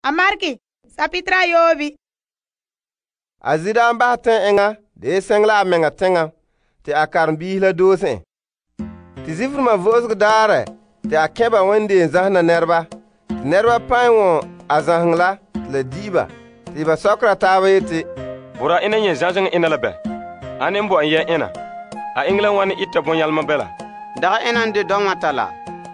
Amarki, sapitra yoobi. A zida an bahɛ tɛn enŋa de seŋ la a mɛŋa teŋa te a karenbiisi la doose en. Te Zifrima Vo'osegɔ Daarɛ te a kɛn ba wendeen zahena nɛreba. Te nɛreba pan wɔn a zaheŋɔ la te la di'i ba. Te ba sɔkera taaba yeti, Boraa ena nyɛ zãzeŋɔ ena la bɛ? Ane n bo en yɛ ena? A eŋɛ la wane ita bɔnyalema bɛ la? Daga ena n de dɔŋmata la.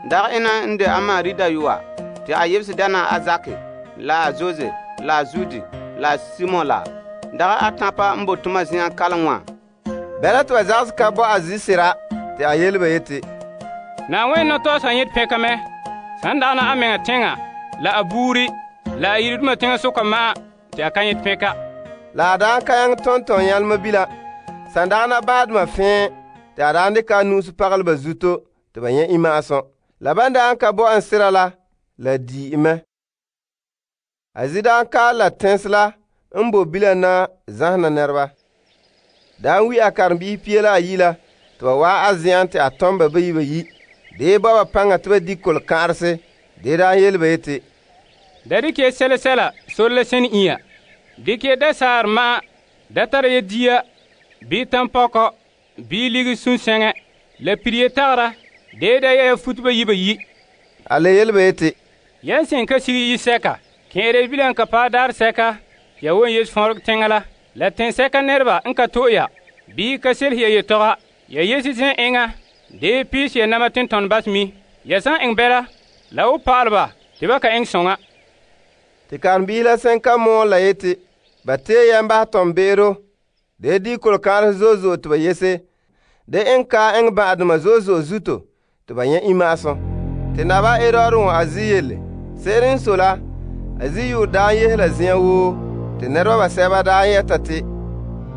Daga ena n de Amari dayɔa. Te a yebese dana a Zaki, la a Jose, la a Zudi, la a Simon la. Daga a tãpa n bo toma zen'an kalom wã. Bɛla te ba zagse ka bo a zisera te a yele ba yeti, Na'ayenɛ nɔtɔgɔsa n yete pɛnka mɛ. San dagana a mɛŋa teŋa, la a buuri, la a yiredoma teŋasoka ma'an te a ka yete pɛnka. La a daan ka yaŋɛ tɔntɔn yɛlema bila. San dagana baadoma fẽe te a daan dɩka a nu'usi pagalɛ ba zuto te ba nyɛ imma'asum. La ban daan ka bo en sera la di'i mɛ. A zidaan kaal la tɛnse la n bo bilam na zahena nɛreba. Daan wi a karenbiisi pia la ayi la te ba waa a zen'an te a tɔm ba bayi. De ba ba paŋa te ba di kolokã'arese. De daan yele ba yeti, Da dikɛ sɛla sore la sẽn inya. Dikɛ da saar ma'an, da tara ya dia, bii tampɔkɔ, bii ligiri sũnsɛŋɛ, la piriye tagera, de da ya futuba yi. A le yele ba yeti, Yan sẽn ka sig yi-sɛka, kẽere bilam ka paɛ daar sɛka, ya won yes fõoreg teŋa la tẽnsɛka nɛreba n ka to'e ya, bii ka selse ya yetɔga, ya yesi zẽ eŋa, de piis ya nama tentɔn bas mi. Ya san eŋ bɛla, la wo pa'al ba tɩ ba ka eŋ sõŋa. Te karenbiisi la sẽn ka mɔɔl la yeti, ba tee yɛn basɛ tɔm-be'ero, de di kolokãarese zo'e tɩ ba yese, de eŋ ka eŋ bã'adoma zo'e zuto tɩ ba nyɛ imma'asum. Te naba Herod wõ a zi yelle. Se'ere n sɔe la, a zi-yʋʋr daan yehe la zen'an woo, te nɛreba basɛba daan yɛta te,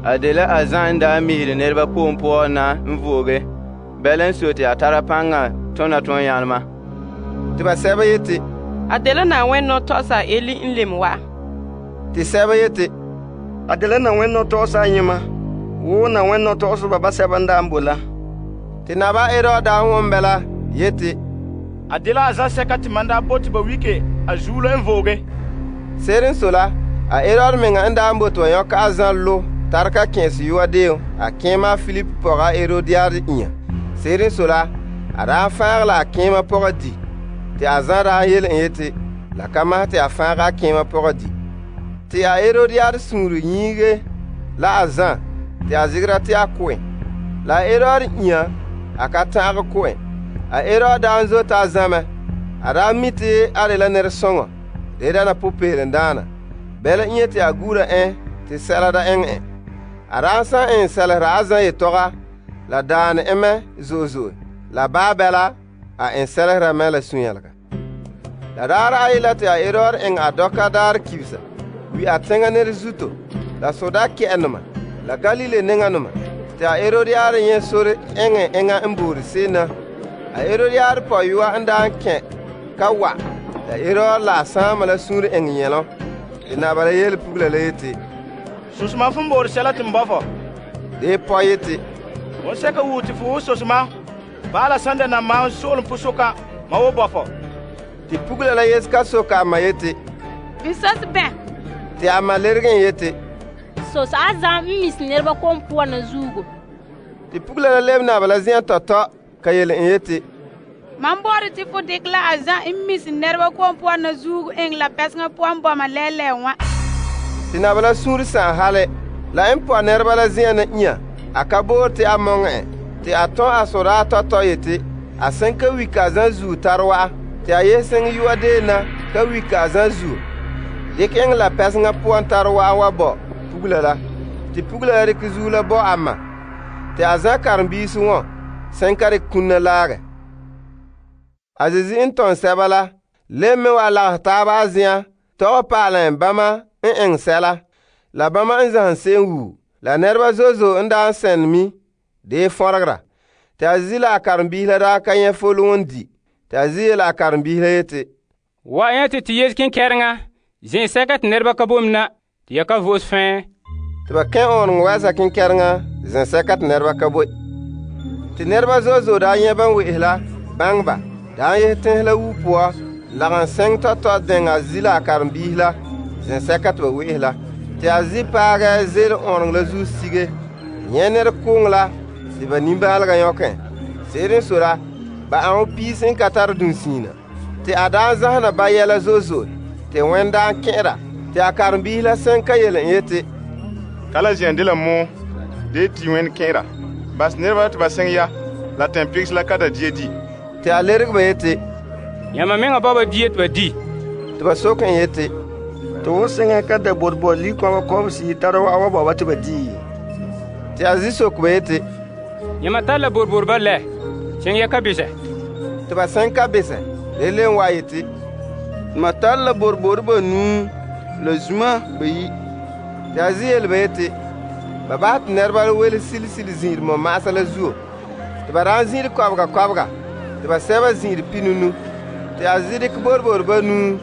A de la a Zã n daa mihiri nɛreba ko'om poan na n vooge. Bɛla n sɔe te a tara paŋa tona tõn-yãlema. te basɛba yeti, A de la Na'ayenɛ nɔtɔgɔsa Eli n lem wa. te sɛba yeti, A de la Na'ayenɛ nɔtɔgɔsa ayema, wo Na'ayenɛ nɔtɔgɔseba basɛba n daa n bo la. te naba Herod daan wõn bɛla yeti, A de la a zãsɛka te man daa bote ba wike a zuo la n vooge. se'ere n sɔe la, a Herod meŋa n daan bote wa yõka a Zã lo tara ka kẽes yʋa deem a kẽema a Filip pɔga Herodiade inya. Se'ere n sɔe la, a daan fãag la a kẽema pɔga di. Te a Zã daan yele en yeti, la ka masɛ te a fãag a kẽema pɔga di. Te a Herodiade sũuru yiige la a Zã te a zegera te a ko en. La a Herod inya a ka ta'age ko en. A Herod daan zota a Zã mɛ. A daa mi te a de la nɛresɔŋɔ, de dana popeelendaana. Bɛla inya te a gura en te sɛla da eŋɛ en. A daan san en sɛlesera a Zã yetɔga, la daane en mɛ zo'e. La baa bɛla, a en sɛlesera mɛ la sũ-yɛlega. La daarɛ ayi la te a Herod eŋ a dɔka daarɛ kibisa, wi a teŋa nɛre zuto, la soda kɛ'ɛnoma, la Galile neŋanoma. Te a Herodiade nyɛ sore eŋɛ eŋa n boore se'em na. A Herodiade pɔyɔa n daan kẽ ka wa, la Herod la a sãama la sũur eŋ yɛlɔ. Te naba la yele pugula la yeti, Susuma fon boore sɛla tɩ n bɔ fɔ. de pɔ yeti, Fon sɛka wuu tɩ fo wo sosema. Baala sãn da na maam soolem pʋsʋka, ma wo bɔ fɔ. te pugula la yese ka soka a ma yeti, N sos bẽ. te a ma lerge en yeti, Sos a Zã n mis nɛreba kom puan na zuugo. te pugula la leb naba la zen'an tɔtɔ ka yele en yeti, Mam boore tɩ fo dɩk la a Zã n mis nɛreba kom puan na zuugu eŋ la pɛsŋa puan bɔma lɛɛlɛɛ wã. te naba la sũur sãn hale, la n pɔ nɛreba la zen'an na inya, a ka boore te a mɔŋɛ en, te a tõ a sodaa tɔtɔ yeti, a sẽn ka wika a Zã zuo tar wa'a, te a yese seŋ yʋa deen na ka wika a Zã zuo. Dɩk eŋɛ la pɛsŋa puan tar wa'a wa bɔ pugula la, te pugula la dɩk zuo la bɔ a ma, te a Zã karenbiisi wõ sẽn ka dɩk kũnna laagɛ. A Zezi n tõn sɛba la, leb me wa lagos taaba a zen'an, tɔgɛ paalẽ bãmba n eŋ sɛla, la bãmba n zãsem se'em wuu, la nɛreba zo'e n daan sẽn mi, de fõregera. Te a Zezi la a karenbiisi la daa ka nyɛ folg n di. Te a Zezi yeela a karenbiisi la yeti, Wa yẽ tɩ yes kẽn-kɛrengã, zẽ-sɛka tɩ nɛreba ka bom na, tɩ ya ka vo'os fẽe. Te ba kẽ ɔɔnegɔ wɛɛsa kẽn-kɛrengã zẽ-sɛka tɩ nɛreba ka boe. Tɩ nɛreba zo'e daa nyɛ ban we'ese la bãng ba, daan yese tẽns la wuo poa, lagom sɛŋ tɔtɔ dɛŋa a zi la a karen-biisi la zɛsɛka te ba we'ehɛ la. Te a zi paagɛ ze'ele ɔɔnrɔŋɔ la zuo sige, nyɛ' nɛrekoŋɔ la te ba nimbaalega nyɔkɛ. Se'ere n sɔe la, ba ãŋɔ piisi n ka tare dunsiina. Te a daa zahena ba yɛla zo'e zo'e, te wɛn daa kɛn'ɛra. Te a karen-biisi la sɛŋ ka yele en yeti, Kala zen'an dela mɔɔ, de ti wɛn kɛn'ɛra. Bas nɛreba te ba sɛŋ ya, la tɛnpegisi la ka da dia di. Te a lerege ba yeti, Yãmba meŋa ba die te ba di. te ba soke en yeti, To wo seŋa ka da bɔt likɔbɔ kɔbesi tara wa'awa ba te ba di. te a zi soke ba yeti, Yãmba tare la borboreba lɛ, seŋ ya ka besɛ. te ba sɛŋ ka besɛ. Le len wa yeti, Ma tare la borbori banuu la zuma bayi. te a zi yele ba yeti, ba bahɛ te nɛreba la wele sili sili ziiri mɔma'asa la zuo. Te ba daan ziiri kɔbega kɔbega, te ba sɛba ziiri pinunu. Te a zi dikɛ borbori banuu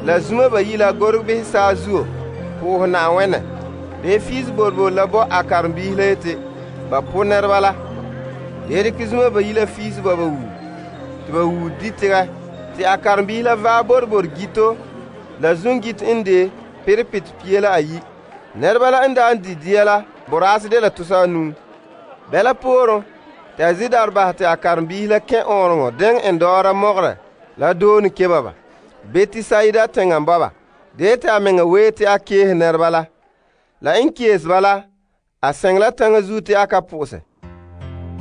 la zuma bayi la gorege behɛ saa zuo pʋʋsɛ Na'ayenɛ. De fiisi borbori la bɔ a karen-biisi la yeti, ba po nɛreba la. De dikɛ zuma bayi la fiisi ba wuu, te ba wuu di tegɛ. Te a karen-biisi la vaɛ borbori gito la zungito n de perepete pie la ayi. Nɛreba la n daa di dia la boraasɛ de la tusa anuu. Bɛla pooren, te a zi daarɛ basɛ te a karen-biisi la kẽ ɔɔnrɔŋɔ deŋɛ en dɔɔra mɔgɔrɛ la doone keba ba. Betisaida teŋa bɔba. De te a meŋa wee te a keese nɛreba la. La n keese ba la, a sɛŋ la taŋa zuo te a ka pʋ'sɛ.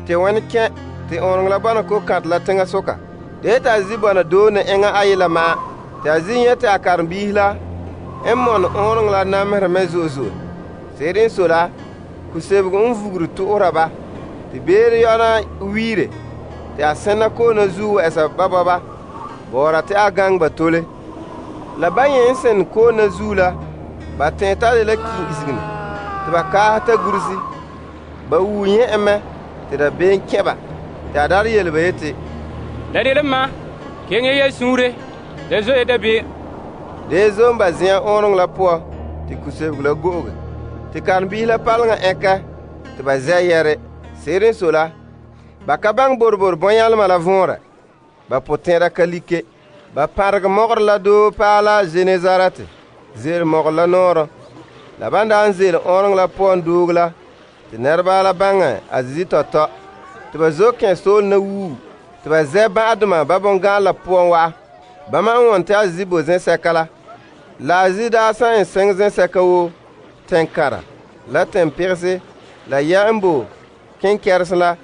Te wɛn kẽ te ɔɔnrɔŋɔ la bɔna ko-kãtɛ la teŋa soka. De te a zi bɔna doone eŋa ayi la ma'an. Te a zi nyɛ te a karen-biisi la n mɔne ɔɔnrɔŋɔ la nameherɛ mɛ zo'e zo'e. Se'ere n sɔe la, kusebego n vugiri to'ora ba. Te beere yɔna wiire. Te a sɛnna koona zuo wɛ'ɛsa ba bɔba, bɔɔra te a gaŋɛ ba tole. La ba yẽ n sɛn koona zuo la, ba tẽ tare la kiin isigini, te ba kaasɛ ta gurisi. Ba wuu nyɛ en mɛ, te da been kẽ ba. Te a dar yele ba yeti, La de ma, keŋe ya suure, la zo'e dabeem. dee zom ba zĩyã ɔɔnrɔŋɔ la poɔ, te kusebego la go'oge. Te karen-biisi la paleŋa ɛka, te ba zɛ yɛre. Se'ere n sɔe la, ba ka baŋɛ borbori bɔnyalema la vɔɔrɛ. Ba potɛn'ɛra ka like. Ba pãregɛ mɔgɔrɛ la doo paa la Genezarete, ze'ele mɔgɔrɛ la nɔɔrɔ. La ban daa n ze'ele ɔɔnrɔŋɔ la poan dooge la, te nɛreba la baŋɛ a zi tɔtɔ. Te ba zo kẽ soole na wuu, te ba zɛ bã'adoma ba bɔngãan la poan wa'a. Bama n wɔn te a zi bo zẽsɛka la. La a zi daa san en sɛŋ zẽsɛka woo, tɛn-kãra, la tɛn-pegese, la yɛ n bo kenkɛrese la.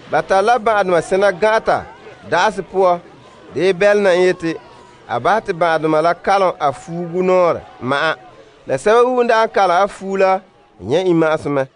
Ba tare la bã'adoma sẽna gã'ata da'asɛ poɔ. De bɛl na n yeti, a basɛ te bã'adoma la kalom a fuugu nɔɔrɛ ma'an. La sɛba wuu n daa n kalom a fuu la, nyɛ imma'asem mɛ.